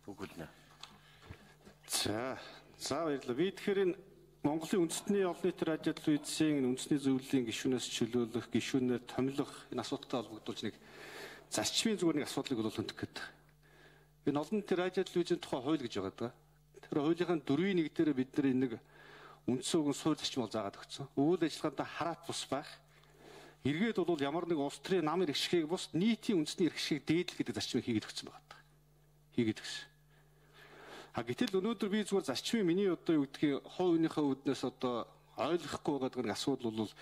Бүгүлнэ. За баярлалаа. Би тэгэхээр энэ Монголын үндэсний олон нийтийн радио телевизийн үндэсний зөвлөлийн гишүүнээс чөлөөлөх, гишүүнээр томилох энэ асуудалтай холбогдуулж нэг зарчмын зүгээр нэг асуудлыг бол хөндөх гэдэг. Энэ олон нийтийн радио телевизийн тухай хууль гэж байгаа даа. Тэр хуулийн 4-1 дээр бид нар нэг үндсэн үгэн сууль зарчмыг заагаад өгсөн. Үйл ажиллагаанд хараат бус байх. Эргээд бол ямар нэг улс төрийн нам иргэшгийг бус нийтийн үндэсний иргэшгийг дээдлэх гэдэг зарчмыг хийгээд өгсөн байгаа даа. Хийгээд өгсөн. Гэтэл өнөөдөр би зүгээр зарчмын миний одоо юу гэдгийг хувийнхаа үднээс одоо ойлгохгүй байгаа нэг асуудал бол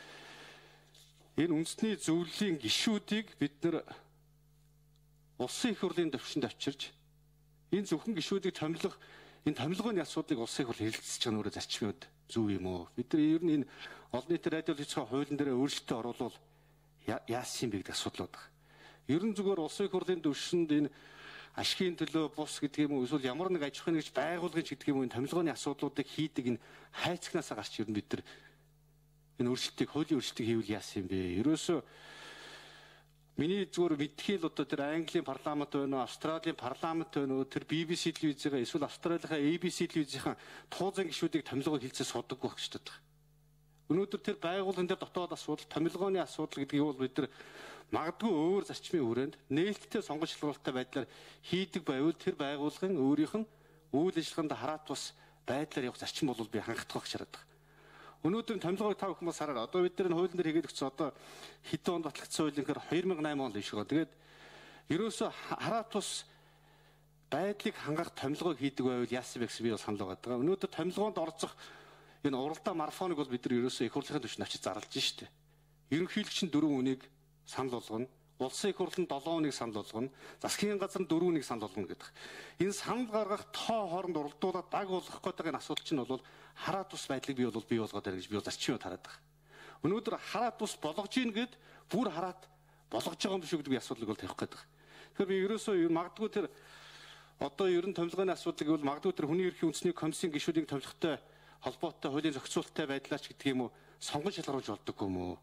энэ үндэсний зөвлөлийн гишүүдийг бид нар улсын их хурлын төвшөнд авчирч энэ зөвхөн гишүүдийг томилох энэ томилгооны асуудлыг улсын их хурл хэлэлцэж байгаа нөрөө зарчмууд зөв юм уу? Бид нар ер нь энэ олон нийтийн радио телевизийн хуулийн дээр өөрчлөлтөө оруулах яасан юм бэ гэдэг асуудал байна. Ер нь зүгээр улсын их хурлын төвшөнд энэ ашигын төлөө бус гэдэг юм уу эсвэл ямар нэг аж ахуйн нэгж байгуулгын гэдэг юм уу энэ томилгооны асуудлуудыг хийдэг энэ хайцагнаас гарч ер нь бид нар энэ өөрчлөлтийг хуулийн өөрчлөлтийг хийвэл яасан юм бэ? Ерөөсөө миний зүгээр мэдхийн л одоо тэр Английн парламент байна уу, Австралийн парламент байна уу, тэр BBC телевизээ эсвэл Австралийнхаа ABC телевизийн туузан гишүүдийг томилгоо хэлцээ судаггүй байх гэж байна. Өнөөдөр тэр байгууллагын дээр дотоод асуудал, томилгооны асуудал гэдгийг бол бид нар магадгүй өөр зарчмын хүрээнд нээлттэй сонгож шалгуулалттай байдлаар хийдэг байвал тэр байгууллагын өөрийнх нь үйл ажиллагаанд хараат бус байдлаар явах зарчим бол би хангах гэж хараад байна. Өнөөдөр томилгоог та бүхэн бас хараа. Одоо бид нар энэ хуулийн дээр хийгээд өгсөн одоо хэдэн онд батлагдсан хуулийн гэхээр 2008 онд биш байгаа. Тэгээд ерөөсөө хараат бус байдлыг хангах томилгоог хийдэг байвал яасан бэ гэсэн би бол санал байгаа. Өнөөдөр томилгоонд орцох энэ уралдаан марафоныг бол бид нар ерөөсөө их хурлын түвшинд очиж зарлаж штэ. Ерөнхийлөгч нь 4 үнийг санал болгоно. Улсын их хурл нь 7 үнийг санал болгоно. Засгийн газар нь 4 үнийг санал болгоно гэдэг. Энэ санал гаргах тоо хооронд уралдуулаад даг болгох гэдэг энэ асуудал чинь бол хараат бус байдлыг бий болгоод байна гэж би бол зарчмыг хараад байгаа. Өнөөдөр хараат бус болгож ийн гэд бүр хараат болгож байгаа юм биш үү гэдэг би асуудлыг бол тавих гэдэг. Тэгэхээр би ерөөсөө магадгүй тэр одоо ерөн томилгооны асуудлыг бол магадгүй тэр хүний эрхийн үндэсний комиссийн гишүүдийг томилохтой холбоотой хуулийн зохицуулалттай байдлаач гэдэг юм уу сонгож шалгаруулж болдоггүй юм уу?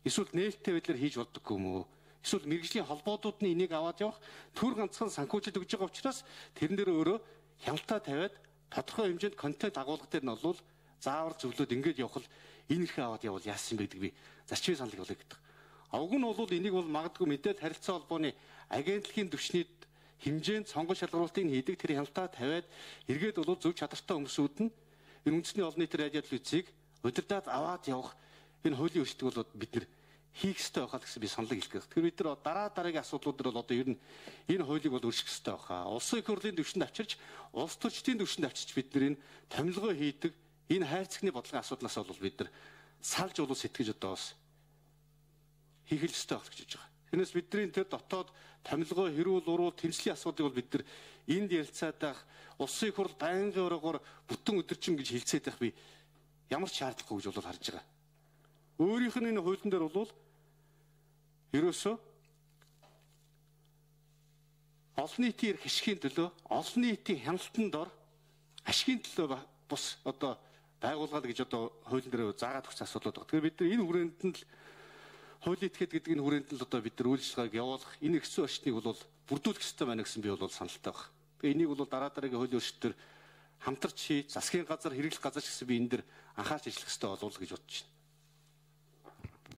Эсвэл нээлттэй байдлаар хийж болдоггүй юм уу? Эсвэл мэргэжлийн холбоодууд нь энийг аваад явах төр ганцхан санхүүжилт өгж байгаа учраас тэрэн дээр өөрөө хяналтаа тавиад тодорхой хэмжээнд контент агуулга дээр нь бол заавар зөвлөд ингэж явах л энэ ихэ аваад явал яасан бэ гэдэг би зарчмын саналыг болоо гэдэг. Уг нь бол энийг бол магадгүй мэдээлэл харилцаа холбооны агентлагийн түвшний хэмжээнд сонгож шалгаруулалтыг хийдэг тэр хяналтаа тавиад эргээд бол зөв чадвартай хүмүүсүүд нь энэ үндэсний олон нийтийн радио телевизийг удирдаад аваад явах энэ хуулийн өөрчлөлтийг бол бид нар хийх ёстой байхаа гэсэн би саналыг хэлэх гээд. Тэгэхээр бид нар дараагийн асуудлууд дээр бол одоо ер нь энэ хуулийг бол өөрчлөх ёстой байхаа. Улсын их хурлын түвшинд авчирч, улс төрчдийн түвшинд авчирч бид нар энэ томилгоо хийдэг энэ хайрцагны бодлогын асуудлаас бол бид нар салж болов сэтгэж одоо бас хийх ёстой байх гэж байгаа. Тэрнээс бидний тэр дотоод томилгоо хэрүүл уруу тэмцлийн асуудлыг бол бид нар энд ярилцаад байх улсын их хурл байнгын орогоор бүтэн өдөржин гэж хэлцээд байх би ямар ч шаардлагагүй гэж бол харж байгаа. Өөрийнх нь энэ хуулийн дээр бол ерөөсөө олон нийтийн эрх ашигын төлөө олон нийтийн хяналтанд дор ашигын төлөө бус одоо байгуулгал гэж одоо хуулийн дээр заагаад өгсөн асуудал байна. Тэгэхээр бид нар энэ хүрээнд нь л хуулийн этгээд гэдэг энэ хүрээнд л одоо бид нар үйл ажиллагааг явуулах энэ хэцүү орчныг бол бүрдүүлэх ёстой байна гэсэн би бол саналтай байна. Тэгээ энийг бол дараагийн хуулийн өөрчлөлтөөр хамтарч засгийн газар хэрэглэх газар гэсэн би энэ дэр анхаарч ажиллах ёстой болов уу гэж бодож байна.